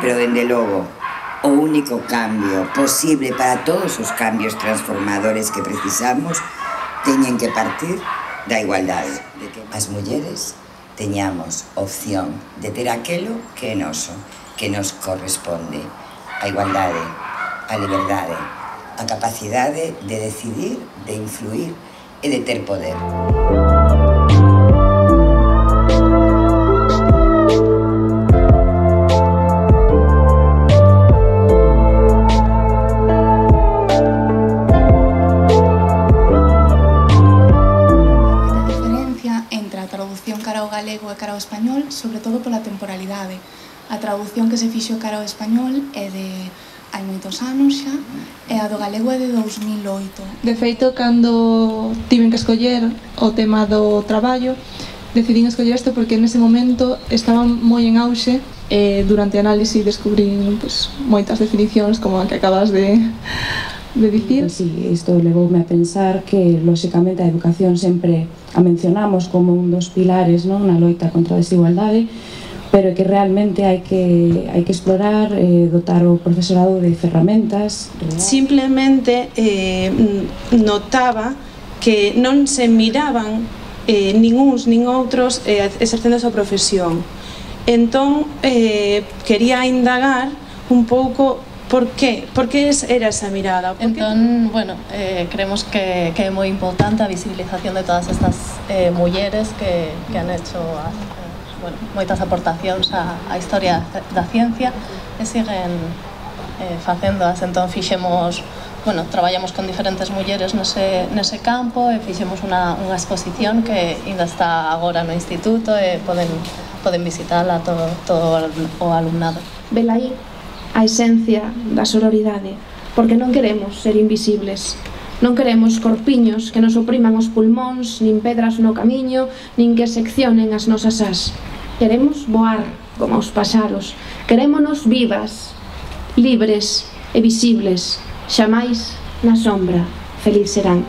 pero dende logo o único cambio posible para todos os cambios transformadores que precisamos teñen que partir da igualdade, de que as mulleres teñamos opción de ter aquelo que é noso, que nos corresponde, a igualdade, a liberdade, a capacidade de decidir, de influir e de ter poder. Cara ao galego e cara ao español, sobre todo pola temporalidade. A traducción que se fixo cara ao español é de hai moitos anos xa, e a do galego é de 2008. De feito, cando tiven que escoller o tema do traballo, decidín escoller isto porque nese momento estaba moi en auxe e durante a análise descubrín moitas definicións como a que acabas de dicir. Sí, isto levoume a pensar que, lóxicamente, a educación sempre a mencionamos como un dos pilares na loita contra a desigualdade, pero que realmente hai que explorar, dotar o profesorado de ferramentas. Simplemente notaba que non se miraban nin uns nin outros exercendo a súa profesión. Entón, quería indagar un pouco por que era esa mirada. Entón, bueno, creemos que é moi importante a visibilización de todas estas mulleres que han hecho moitas aportacións á historia da ciencia e siguen facéndoas. Entón fixemos, traballamos con diferentes mulleres nese campo e fixemos unha exposición que ainda está agora no instituto e poden visitala todo o alumnado. Velaí a esencia da sororidade, porque non queremos ser invisibles, non queremos corpiños que nos opriman os pulmóns, nin pedras no camiño, nin que seccionen as nosas ás. Queremos voar como os paxaros, querémonos vivas, libres e visibles, xamais na sombra, feliz serán.